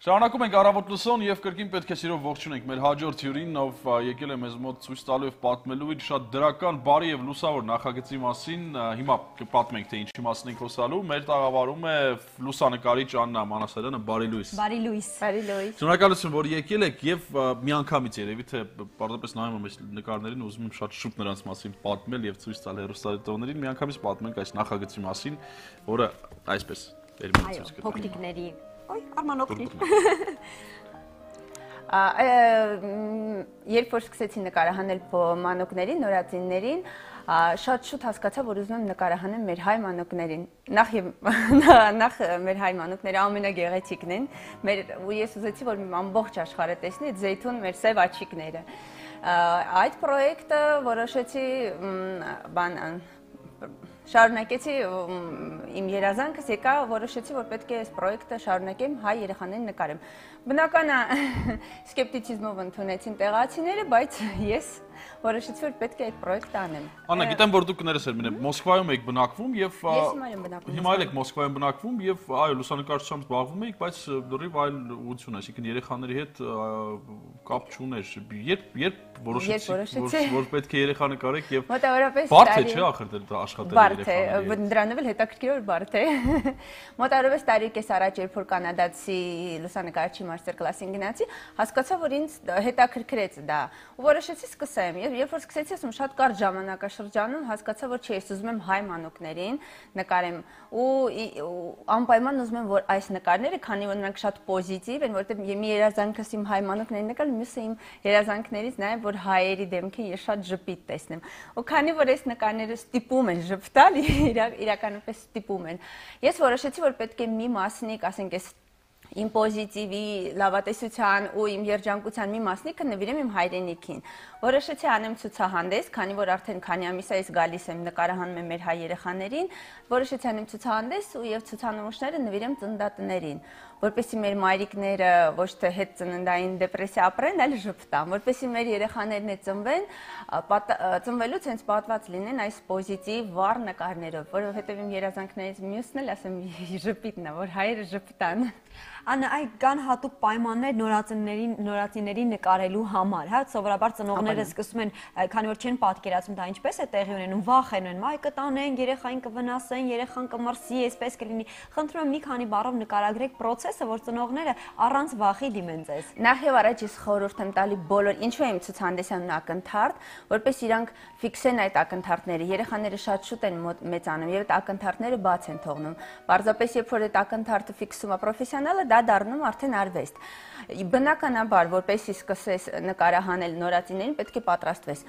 Շարունակում ենք առավոտ լսոն եւ կրկին պետք է սիրով ողջունենք մեր հաջորդ հյուրին, ով եկել է մեզ մոտ ցույց տալու եւ պատմելու իր շատ դրական, բարի եւ լուսավոր նախագծի մասին։ Հիմա կպատմենք, թե ինչի մասին ենք խոսալու։ Մեր տաղավարում է լուսանկարիչ Աննա Մանասարյանը, բարի լույս։ Բարի լույս։ Բարի լույս։ Շնորհակալություն, որ եկել եք եւ միանգամից երևի թե պարզապես նայում եմ այս նկարներին, ուզում եմ շատ շուտ նրանց մասին պատմել եւ ցույց տալ հեռուստադիտողներին, միանգամից պատմենք այս նախագծի մասին, որը այսպես Այո, փոքրիկների Ой, Արման օգնի։ Երբ որ սկսեցի նկարահանել մանուկներին, նորածիններին, շատ շուտ հասկացա, որ ուզում եմ նկարահանեմ մեր հայ մանուկներին։ Նախ մեր հայ մանուկները ամենագեղեցիկն են, ու ես ուզեցի, որ ամբողջ աշխարհը տեսնի այդ զեյթուն մեր սև աչիկները։ Այդ պրոյեկտը որոշեցի շարունակեցի իմ երազանքս եկա, որոշեցի, որ պետք է այս պրոյեկտը շարունակեմ հայ երեխաներին նկարեմ։ Բնական է սկեպտիցիզմով ընդունեցին տեղացիները, բայց ես որոշեցի, որ պետք է այդ պրոյեկտը անեմ։ Աննա, գիտեմ, որ դուք կներես եք Մոսկվայում եք բնակվում եւ հիմա եք Մոսկվայում բնակվում եւ այո, լուսանկարչությամբ զբաղվում եք, բայց լրիվ այլ ուղղություն, այսինքն երեխաների հետ կապ չուներ։ Երբ որոշեցիք, որ պետք է երեխա նկարեք եւ բարդ է, չէ՞, ախր դա աշխատել երեխաների հետ։ Դրանով էլ հետաքրքիր որ բարդ է։ Մոտավորապես տարի կես առաջ, երբ որ կանադացի լուսանկարչի մաստեր կլասին գնացի, հասկացա, որ ինձ հետաքրքրեց դա։ Ու որոշեցի սկսեմ։ Երբ որ սկսեցի, ասում շատ կարճ ժամանակաշրջանում հասկացա, որ չէ, ես ուզում եմ հայ մանուկներին նկարեմ ու անպայման ուզում եմ, որ այս նկարները, քանի որ նրանք շատ պոզիտիվ են, որովհետև մի երազանքս իմ հայ մանուկներին նկարել, մյուսը իմ երազանքներից նաև որ հայերի դեմքին ես շատ ժպիտ տեսնեմ։ Ու քանի որ այս նկարները ստիպում են ժպտալ, իրականապես ստիպում են։ Ես որոշեցի, որ պետք է մի մասնիկ, ասենք այս իմ պոզիտիվի, լավատեսության ու իմ երջանկության մի մասնիկը նվիրեմ իմ հայրենիքին։ Որոշեցի անեմ ցուցահանդես, քանի որ արդեն քանի ամիս է ես գալիս եմ նկարահանում եմ մեր հայ երեխաներին, որոշեցի անեմ ցուցահանդես ու եւ ցուցանմուշները նվիրեմ ծննդատներին, որպեսզի մեր մայրիկները ոչ թե հետ ծննդային դեպրեսիա ապրեն, այլ ժպտան, որպեսզի մեր երեխաներն է ծնվեն, ծնվելուց հենց պատված լինեն այս պոզիտիվ վառ նկարներով, որովհետեւ իմ երազանքներից մյուսն էլ ասեմ ժպիտն է, որ հայերը ժպտան։ Աննա, այ կան հատուկ պայմաններ նորածինների նկարելու համար, հա, սովորաբար ծնողները սկսում են, քանի որ չեն պատկերացնում դա ինչպես է տեղի ունենում, վախենում են, այ կտանեն, երեխային կվնասեն, երեխան կմրսի, այսպես կլինի։ Խնդրում եմ մի քանի բառով նկարագրեք process-ը, որ ծնողները առանց վախի դիմեն ձեզ։ Նախ եւ առաջ ես խորհուրդ եմ տալի բոլոր, ինչու եմ ցուցահանդեսանում ակնթարթ, որպես իրանք ֆիքսեն այդ ակնթարթները։ Երեխաները շատ շուտ են մեծանում եւ այդ ակնթարթները բաց են թողնում։ Պարզապես երբ որ այդ ակնթարթը ֆիքսում է պրոֆեսիոնալը, դա դառնում արդեն արվեստ։ Բնականաբար, որպեսզի սկսես նկարահանել նորածիններին, պետք է պատրաստվես։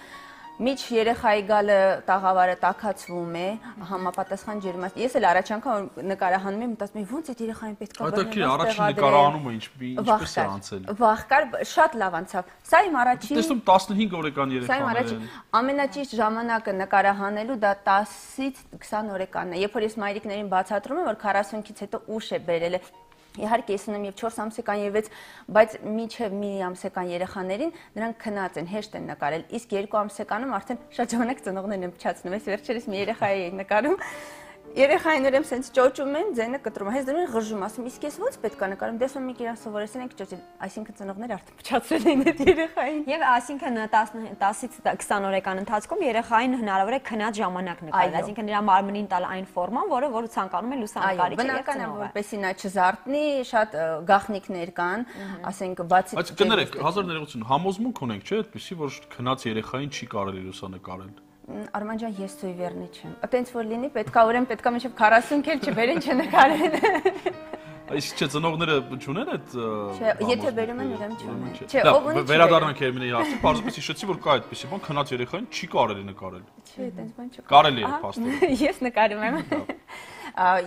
Միջ երեխայի գալը տաղավարը տաքացվում է, համապատասխան ջերմաստ։ Ես էլ առաջ անգամ նկարահանում եմ, մտածում եմ ոնց այդ երեխային պետք է բռնել։ Առաջին նկարահանումը ինչպես է անցել։ Վախ կար, շատ լավ անցավ։ Սա իմ առաջին Տեսնում 15 օրեկան երեխաներ են։ Ամենաճիշտ ժամանակը նկարահանելու դա 10-ից 20 օրեկանն է։ Երբ որ ես մայրիկներին բացատրում եմ, որ 40-ից հետո ուշ է բերել Իհարկե ես ունեմ եւ 4 ամսական եւ 6, բայց միջև մի ամսական երեխաներին նրանք քնած են, հեշտ են նկարել, իսկ 2 ամսականում արդեն շատ ժամանակ ծնողներն են փչացնում, ես վերջերս մի երեխայի էի նկարում, երեխային ուրեմն սենց ճոճում են, ձենը կտրում, հենց դրան ղժում, ասում, իսկ ես ո՞նց պետք է նկարեմ, դες մի կերան սովորեցել ենք ճոճել, այսինքն ծնողները արդեն փչացրել են այդ երեխային։ Եվ այսինքն 10-ից 20 օրեկան ընթացքում երեխային հնարավոր է քնած ժամանակ նկարել, այսինքն նրա մարմնին տալ այն ֆորման, որը ցանկանում է լուսանկարիչը եւ ծնողը։ Որպեսզի նա չզարթնի, շատ գաղտնիքներ կան, ասենք բացի Բայց կներեք, 1000 համոզմունք ունենք, չէ՞, այդպեսի, որ քնած երեխային չի կարելի լուսանկարել։ Արման ջան, ես սույվերնի չեմ։ Այտենց որ լինի, պետքա ուրեմն պետքա մինչև 40 քեր չբերեն չնկարեն։ Այս չէ ծնողները չունեն այդ։ Չէ, եթե բերում են ուրեմն չունեն։ Չէ, ով ունի։ Վերադառնանք Երմինեի հարցին, պարզապես հիշեցի, որ կա այդպեսի բան, քնած երեխային չի կարելի նկարել։ Չէ, այտենց բան չկա։ Կարելի է, փաստորեն։ Ես նկարում եմ։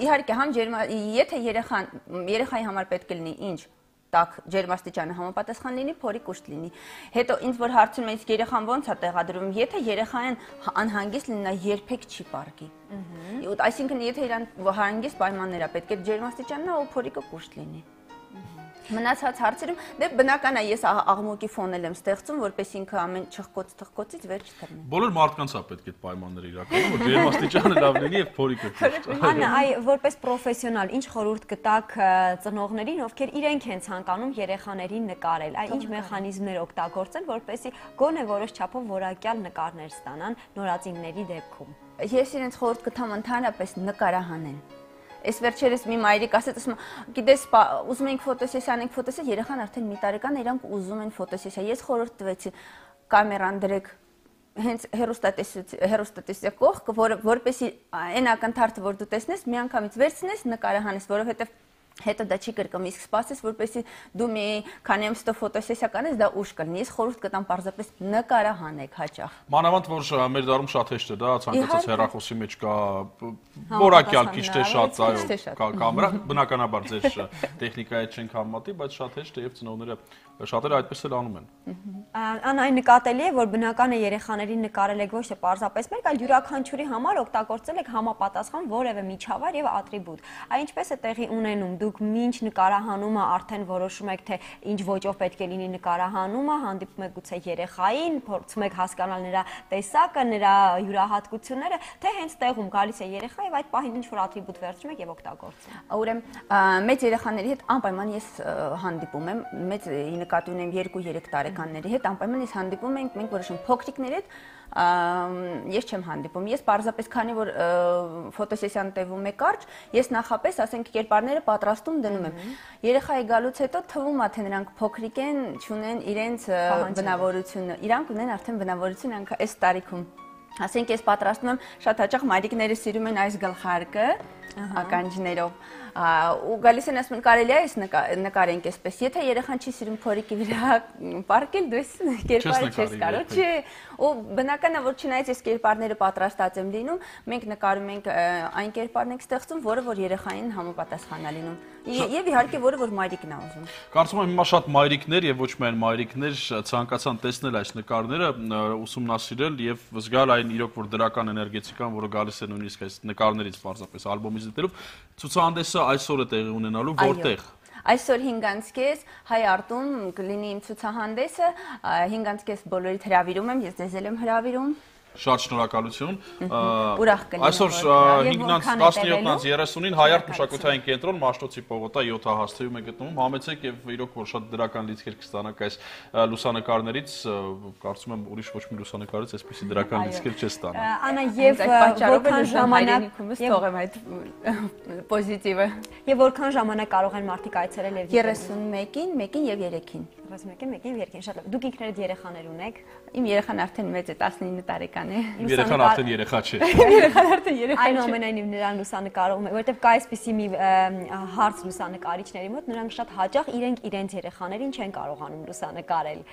Իհարկե, համ եթե երեխայի համար պետք է լինի ինչ տակ ջերմաստիճանը համապատասխան լինի, փորի կուշտ լինի։ Հետո ինձ որ հարցում են, իսկ երեխան ո՞նց է տեղադրվում, եթե երեխան անհանգիստ լինի, նա երբեք չի պարկի։ Այսինքն եթե իրան հանգիստ պայմաններ է պետք է ջերմաստիճանն ու փորիկը կուշտ լինի։ Մնացած հարցերում դե բնական է ես աղմուկի ֆոնել եմ ստեղծում, որպես ինքը ամեն չխկոց-թխկոցից վեր չթռնի։ Բոլոր մարդկանց է պետք այդ պայմանները իրականում, որ ջերմաստիճանը լավ լինի եւ փորիկը ճիշտ։ Աննա, որպես պրոֆեսիոնալ, ինչ խորհուրդ կտաք ծնողներին, ովքեր իրենք են ցանկանում երեխաներին նկարել, ինչ մեխանիզմներ օգտագործեն, որպեսզի գոնե որոշ չափով որակյալ նկարներ ստանան նորածինների դեպքում։ Ես իրենց խորհուրդ կտամ ընդհանրապես նկարահանեն։ Այս վերջերս մի մայրիկ ասեց, ասում, գիտես, ուզում ենք ֆոտոսեսիա անենք, երեխան արդեն մի տարեկան է, իրանք ուզում են ֆոտոսեսիա։ Ես խորհուրդ տվեցի կամերան դրեք հենց հեռուստատեսիա կողքը, որպեսզի այն ակնթարթը, որ դու տեսնես, միանգամից վերցնես, նկարահանես, որովհետև հետո դա չի կրկնվի, իսկ սպասես, որպեսզի դու մի քանի ամսով ֆոտոսեսիա կանես, դա ուշ կլինի։ Ես խորհուրդ կտամ պարզապես նկարահանեք հաճախ։ Մանավանդ որ մեր դարում շատ հեշտ է, դա ցանկացած հեռախոսի մեջ կա որակյալ քիչ թե շատ, այո, կամերա, բնականաբար ձեր տեխնիկայի չենք համեմատի, բայց շատ հեշտ է եւ ծնողները շատերը այդպես էլ անում են։ Անա այն նկատելի է, որ բնական է երեխաներին նկարել եք ոչ թե պարզապես մեկ, այլ յուրաքանչյուրի համար օգտագործել եք համապատասխան որևէ միջավայր եւ ատրիբուտ։ Այ ինչպես է տեղի ունենում, դուք մինչ նկարահանումը արդեն որոշում եք, թե ինչ ոճով պետք է լինի նկարահանումը, հանդիպում եք գուցե երեխային, փորձում եք հասկանալ նրա տեսակը, նրա յուրահատկությունները, թե հենց տեղում գալիս է երեխա եւ այդ պահին ինչ որ ատրիբուտ վերցնում եք եւ օգտագործում։ Ուրեմն մեծ երեխաների հետ անպայման ես հանդիպում եմ, մեծ նկատի ունեմ 2-3 տարեկանների հետ, անպայման ես հանդիպում ենք, մենք որոշում փոքրիկների հետ ես չեմ հանդիպում։ Ես պարզապես քանի որ ֆոտոսեսիան տևում է կարճ, ես նախապես, ասենք, կերպարները պատրաստում դնում եմ։ Երեխայի գալուց հետո թվում է, թե նրանք փոքրիկ են, չունեն իրենց բնավորությունը։ Իրանք ունեն արդեն բնավորություն այս տարիքում։ Ասենք ես պատրաստում եմ, շատ հաճախ մայրիկները սիրում են այս գլխարկը ականջներով ու գալիս են ասում կարելի է այս նկարենք այսպես, եթե երեխան չի սիրում փորիկի վրա պարկել, դու այս կերպարը չես կարող, չէ, ու բնական է որ չնայած այս կերպարները պատրաստած եմ լինում, մենք նկարում ենք այն կերպարն ենք ստեղծում, որը որ երեխային համապատասխան է լինում, եւ իհարկե որը որ մայրիկն է ուզում։ Կարծում եմ հիմա շատ մայրիկներ եւ ոչ միայն մայրիկներ ցանկացան տեսնել այս նկարները, ուսումնասիրել եւ զգալ այն իրոք որ դրական էներգետիկան, որը գալիս է նույնիսկ այս նկարներից պարզապես ալբոմից դիտելով, ցուցահանդեսը այսօր է տեղի ունենալու որտեղ։ Այսօր 5:30 Հայ արտում կլինի իմ ցուցահանդեսը, 5:30 բոլորիդ հրավիրում եմ, ես ձեզ եմ հրավիրում։ Շատ շնորհակալություն։ Ուրախ կլինեմ։ Այսօր 5:17-30-ին Հայարտ մշակութային կենտրոն Մաշտոցի պողոտա 7 հաստեյում է գտնվում։ Համեցեք եւ իրոք որ շատ դրական լիցքեր կստանաք այս լուսանկարներից, կարծում եմ ուրիշ ոչ մի լուսանկարից այսպիսի դրական լիցքեր չես ստանա։ Անա եւ որքան ժամանակ թողեմ այդ պոզիտիվը։ Եվ որքան ժամանակ կարող են մարդիկ այցելել եւ 31-ին, 1-ին եւ 3-ին։ 31-ին, 1-ին, 2-ին, շատ լավ։ Դուք ինքներդ երեխաներ ունեք։ Իմ երեխան արդեն մեծ է, 19 տարեկան է։ Երեխան արդեն երեխա չէ։ Երեխան արդեն երեխա չէ։ Այնուամենայնիվ նրան լուսանկարում է, որովհետև կա այսպիսի մի հարց լուսանկարիչների մոտ, նրանք շատ հաճախ իրենց երեխաներին չեն կարողանում լուսանկարել։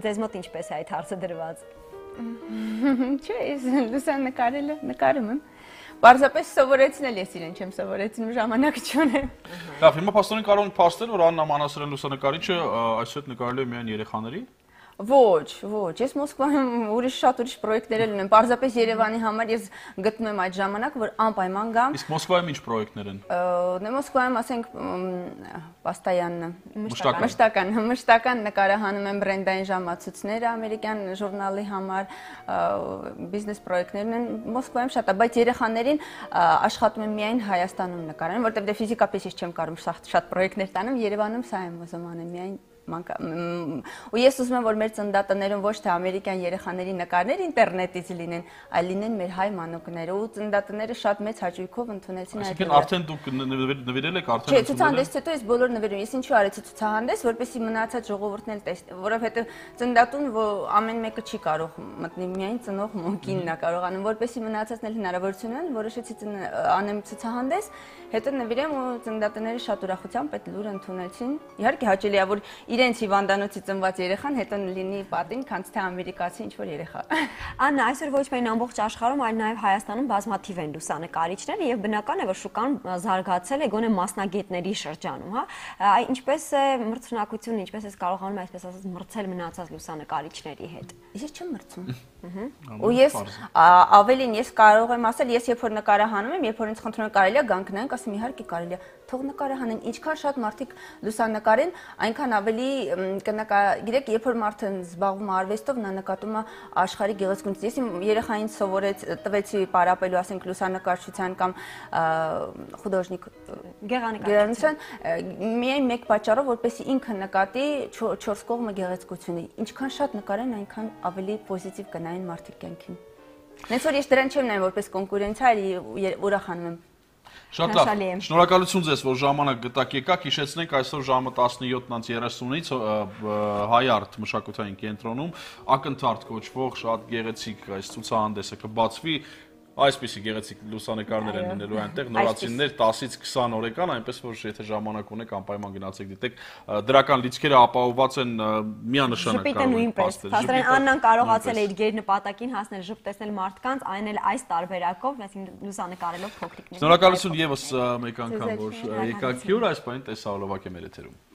Ձեզ մոտ ինչպես է այդ հարցը դրված։ Չէ, ես լուսանկարելը նկարում եմ։ Պարզապես սովորեցնել ես իրեն չեմ սովորեցնում, ժամանակ չունեմ։ Լավ, հիմա փաստորեն կարող ենք փաստել, որ Աննա Մանասարյան լուսանկարիչը այսօր նկարել է միայն երեխաների։ Ոչ, ես Մոսկվայում շատ ուրիշ պրոյեկտներ ունեմ, պարզապես Երևանի համար ես գտնում եմ այդ ժամանակ, որ անպայման գամ։ Իսկ Մոսկվայում ինչ պրոյեկտներ են։ Մոսկվայում, ասենք, մշտական նկարահանում եմ բրենդային ժամացույցները ամերիկյան ժուրնալի համար, բիզնես պրոյեկտներ ունեն Մոսկվայում շատ, բայց երեխաներին աշխատում եմ միայն Հայաստանում նկարահանել, որտեղ դե ֆիզիկապես ես չեմ կարող շատ պրոյեկտներ տանեմ, Երևանում սա եմ ուզում անել միայն ու ես ուզում եմ որ մեր ծննդատներում ոչ թե ամերիկյան երեխաների նկարներ ինտերնետից լինեն, այլ լինեն մեր հայ մանուկները ու ծննդատները շատ մեծ հաճույքով ընդունեցին այդ։ Այսինքն արդեն դուք նվիրել եք արդեն։ Չէ, ցուցահանդեսից հետո ես բոլոր նվիրում, ես ինչու արեցի ցուցահանդես, որպեսզի մնացած ժողովուրդն էլ տեսնի, որովհետև ծննդատուն ամեն մեկը չի կարող մտնի, միայն ծնող մոնկինն է կարողանում, որպեսզի մնացածն էլ հնարավորություն ունեն, որոշեցի անեմ ցուցահանդես, հետո նվիրեմ ու ծննդատները շատ ուրախությամբ այդ լուրը ընդունեցին։ Իհարկե հաճելի է որ իրենց հիվանդանոցի ծնված երեխան հետո լինի պատին, քանց թե ամերիկացի ինչ-որ երեխա։ Աննա, այսօր ոչ միայն ամբողջ աշխարհում, այլ նաև Հայաստանում բազմաթիվ են լուսանկարիչները եւ բնական է, որ շուկան զարգացել է գոնե մասնագետների շրջանում, հա։ Ինչպես է մրցունակությունը, ինչպես է կարողանում այսպես ասած մրցել մնացած լուսանկարիչների հետ։ Ես չեմ մրցում։ Ու ես ավելին ես կարող եմ ասել, ես երբ որ նկարահանում եմ, երբ որ ինձ խնդրում են կարելի է գանքնանք, ասեմ իհարկե կարելի է, թող նկարահանեն, ինչքան շատ մարդիկ լուսանկարեն, այնքան ավելի գիտեք, երբ որ մարդը զբաղվում է արվեստով, նա նկատում է աշխարհի գեղեցկությունից։ Ես իմ երեխային տվեցի պարապելու, ասենք լուսանկարչության կամ խուդոժնիկ գեղանկարչության, միայն մեկ պատճառով, որպեսզի ինքը նկատի չորս կողմը գեղեցկությունը։ Ինչքան շատ նկարեն, այնքան ավելի պոզիտիվ կնային մարդիկ կյանքին։ Հենց որ ես դրան չեմ նայում որպես կոնկուրենցիա, այլ ուրախանում եմ։ Շատ լավ։ Շնորհակալություն ձեզ, որ ժամանակ գտաք եկաք։ Հիշեցնենք այսօր ժամը 17:30-ից Հայ արտ մշակութային կենտրոնում ակնթարթ կոչվող շատ գեղեցիկ այս ցուցահանդեսը կբացվի։ Այսպիսի գեղեցիկ լուսանկարներ են լինելու այնտեղ, նորացիններ 10-ից 20 օրեկան, այնպես որ եթե ժամանակ ունեք, անպայման գնացեք դիտեք, դրական լիցքերը ապահովված են միանշանակ կարող են փաստել։ Հասարեն Աննան կարողացել է իր գեր նպատակին հասնել, ժպտեցնել մարդկանց, այն էլ այս տարբերակով, այսինքն լուսանկարելով փոքրիկներին։ Շնորհակալություն եւս մեկ անգամ, որ եկաք հյուր, այս բանը տեսահոլովակ է մեր եթերում։